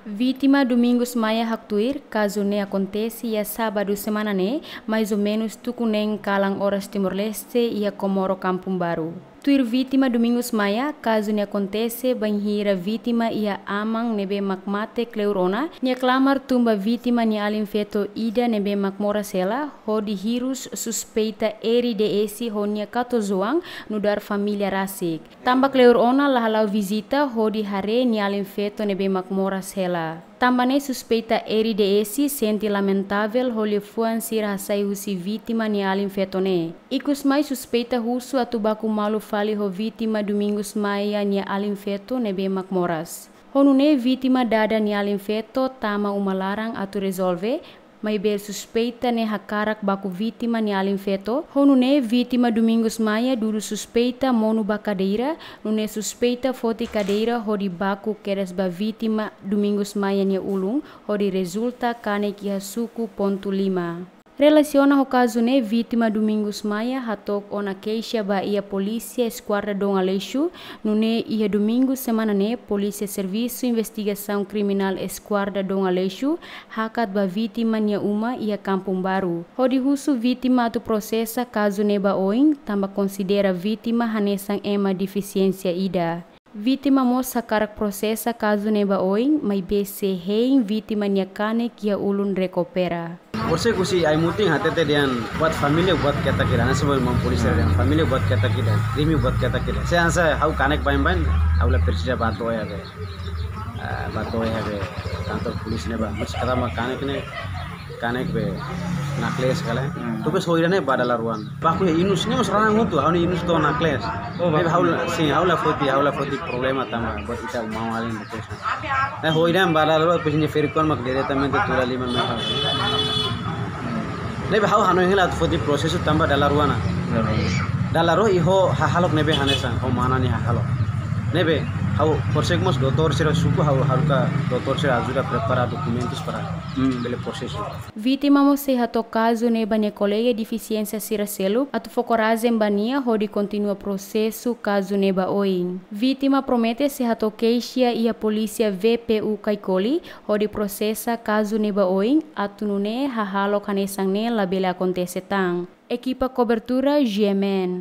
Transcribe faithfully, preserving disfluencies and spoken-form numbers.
Vítima Domingos Maia haktuir, kazu ne'e akontese iha sábadu semana ne'e, mais ou menus tuku neen kalan oras Timor-Leste, iha Comoro Kampung Baru. Tuir vítima Domingos Maia, kazu ne'e akontese bainhira vítima iha aman ne'ebé mak mate kleur ona, nia klamar tun ba vítima nia alin feto ida ne'ebé mak moras hela, hodi hirus suspeita R D S ho nia katuas-oan nu'udar família rasik. Tanba kleur ona la hala'o vizita hodi haree nia alin feto ne'ebé mak moras hela. Tanba ne'e suspeita R D S sente lamentavel ho liafuan sira hasai husi vítima nia alin feto ne'e. Ikus mai suspeita husu atu baku malu fali ho vítima Domingos Maia nia alin feto ne'ebé mak moras. Ho nune'e vítima dada nia alin feto tama uma laran atu rezolve, maibé suspeita ne'e hakarak baku vítima nia alin feto. Ho nune'e vítima Domingos Maia dudu suspeita monu ba kadeira, nune'e suspeita foti kadeira hodi baku kedas ba vítima Domingos Maia nia ulun, hodi rezulta kanek iha suku pontu lima. Relasiona ho kazu ne'e, vítima Domingos Maia hato'o ona keixa ba iha Polísia Eskuadra Dom Aleixo, nune'e iha Domingu semana ne'e Polísia Servisu Investigasaun Kriminál Eskuadra Dom Aleixo hakat ba vítima nia uma iha Kampung Baru, hodi husu vítima atu prosesa kazu ne'e ba oin, tanba konsidera vítima hanesan ema defisiénsia ida. Vítima mós hakarak prosesa kazu ne'e ba oin, maibé sei hein vítima nia kanek iha ulun rekupera. Horisehik husi ai-mutin hatete dehan buat família buat ketak ida, hanesan maun polísia dehan família buat ketak ida, krime buat ketak ida. Se hanesan ha'u kanek baibain, ha'u la presiza bá to'o iha be, ah, bá to'o iha be kantor polísia ne'ebá. Mas karena kanek ne'e, kanek be naklees kala. Hmm. Depois ho ida-ne'e bá dala rua ona. Baku iha inus, ne'e mós raan hotu, ha'u-nia inus to'o naklees. Oh, ne'ebé baku. Ha'u la, sin, ha'u la foti, ha'u la foti problema tanba buat ita maun-alin depois. Ne'e ho ida-ne'e bá dala rua, depois nia ferik-oan mak diretamente tuur liman mai ha'u. Ne'ebé ha'u hanoin hela atu foti prosesu tanba dala rua ona. Dala rua. Dala rua i ho hahalok ne'ebé hanesan, ho mana nia hahalok. Ne'ebé ha'u horisehik mós doutór sira suku, ha'u haruka doutór sira ajuda prepara dokumentus para, hmm, bele prosesu. Vítima mós sei hato'o kazu ne'e ba nia kolega defisiénsia sira seluk atu fó korajen ba nia hodi kontinua prosesu kazu ne'e ba oin. Vítima promete sei hato'o keixa iha Polísia V P U Caicoli hodi prosesa kazu ne'e ba oin, atu nune'e hahalok hanesan ne'e labele akontese tan. Ekipa kobertura G M N.